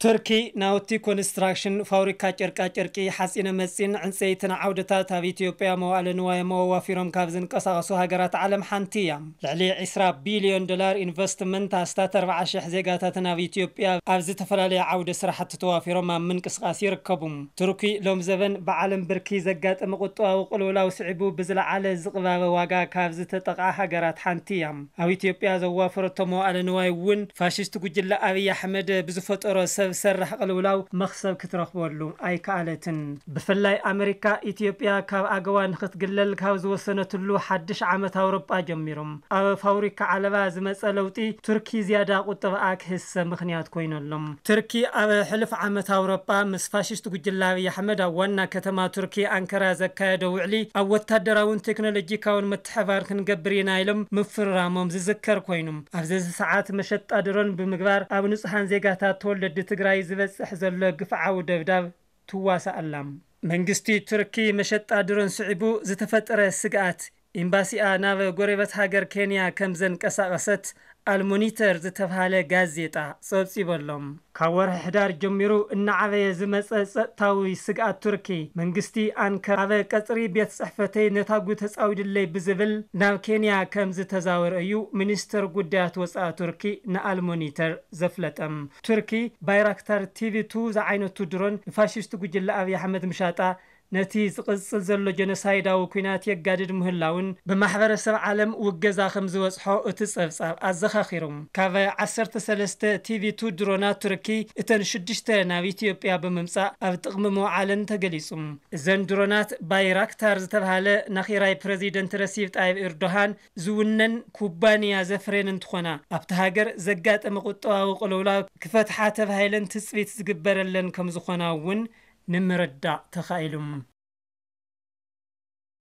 ቱርኪ ናውቲ ኮንስትራክሽን፣ ፋብሪካ ጨርቃ ጨርቂ፣ ሓፂነ መፂን ዕንፀይትን ዓውድታት ኣብ ኢትዮጵያ መዋእለ ንዋዮም ኣዋፊሮም ካብ ዝንቀሳቐሱ ሃገራት ዓለም ሓንቲ እያ። ልዕሊ ዕስራ ቢልዮን ዶላር ኢንቨስትመንት፣ ኣስታት ኣርባዓ ሽሕ ዜጋታትን ኣብ ኢትዮጵያ ኣብ ዝተፈላለዩ ዓውደ ስራሕቲ ተዋፊሮም ኣብ ምንቅስቃስ ይርከቡ። ቱርኪ ሎም ዘበን ብዓለም ብርኪ ዘጋጠመ ቁጠባዊ ቅልውላው ስዒቡ ብዝለዓለ ዝቕባበ ዋጋ ካብ ዝተጠቕዓ ሃገራት ሓንቲ እያ። ኣብ ኢትዮጵያ ዘዋፈረቶ መዋእለ ንዋይ እውን ፋሽስት ጉጅለ ኣብይ ኣሕመድ ብዝፈጠሮ ሰብ ሰራሕ ቅልውላው መኽሰብ ክትረኽበሉ ኣይከኣለትን። ብፍላይ ኣመሪካ ኢትዮጵያ ካብ ኣገዋ ንክትግለል ካብ ዝወሰነትሉ ሓድሽ ዓመት ኣውሮጳ ጀሚሮም ኣብ ፋብሪካ ዓለባ ዝመጸ ለውጢ ቱርኪ ዝያዳ ቁጠባኣ ክህሰ ምኽንያት ኮይነሎም። ቱርኪ ኣብ ሕሉፍ ዓመት ኣውሮጳ ምስ ፋሽስት ጉጅለ ኣብይ ኣሕመድ ኣብ ዋና ከተማ ቱርኪ ኣንከራ ዘካየዶ ውዕሊ ኣብ ወታደራውን ቴክኖሎጂካውን ምትሕባር ክንገብር ኢና ኢሎም ምፍርራሞም ዝዝከር ኮይኑ፣ ኣብዚ ሰዓት መሸጣ ድሮን ብምግባር ኣብ ንጹሃን ዜጋታት ተወለድቲ ትግራይ ዝበጽሕ ዘሎ ግፍዓዊ ደብዳብ ትዋሳእ ኣላ። መንግስቲ ቱርኪ መሸጣ ድሮን ስዒቡ ዝተፈጠረ ስግኣት ኤምባሲኣ ናብ ጎረቤት ሃገር ኬንያ ከም ዘንቀሳቐሰት ኣልሞኒተር ዝተብሃለ ጋዜጣ ጸብጺቡ ኣሎ። ካብ ወርሒ ሕዳር ጀሚሩ እናዓበየ ዝመጸ ጸጥታዊ ስግኣት ቱርኪ፣ መንግስቲ ኣንከራ ኣብ ቀጽሪ ቤት ጽሕፈተይ ነታጉ ተጻዊድለይ ብዝብል ናብ ኬንያ ከም ዝተዛወረ እዩ ሚኒስተር ጉዳያት ወጻኢ ቱርኪ ንኣልሞኒተር ዘፍለጠ። ቱርኪ ባይራክታር ቲቪ ቱ ዝዓይነቱ ድሮን ንፋሽስት ጉጅለ ኣብይ ኣሕመድ ምሻጣ ነቲ ዝቕጽል ዘሎ ጀኖሳይዳዊ ኲናት የጋድድ ምህላውን ብማሕበረሰብ ዓለም ውገዛ ከም ዝበጽሖ እቲ ጸብጻብ ኣዘኻኺሩ። ካብ ዓሰርተ ሰለስተ ቲቪ ቱ ድሮናት ቱርኪ እተን ሽዱሽተ ናብ ኢትዮጵያ ብምምጻእ ኣብ ጥቕሚ ምውዓለን ተገሊጹ። እዘን ድሮናት ባይራክታር ዝተብሃለ ናኺራይ ፕረዚደንት ረሲብ ጣይብ ኤርዶሃን ዝውነን ኩባንያ ዘፍረየን እንትኾና፣ ኣብቲ ሃገር ዘጋጠመ ቁጠባዊ ቅልውላው ክፈትሓ ተባሂለን ትጽቢት ዝግበረለን ከም ዝኾና እውን ንምርዳእ ተኻኢሉ።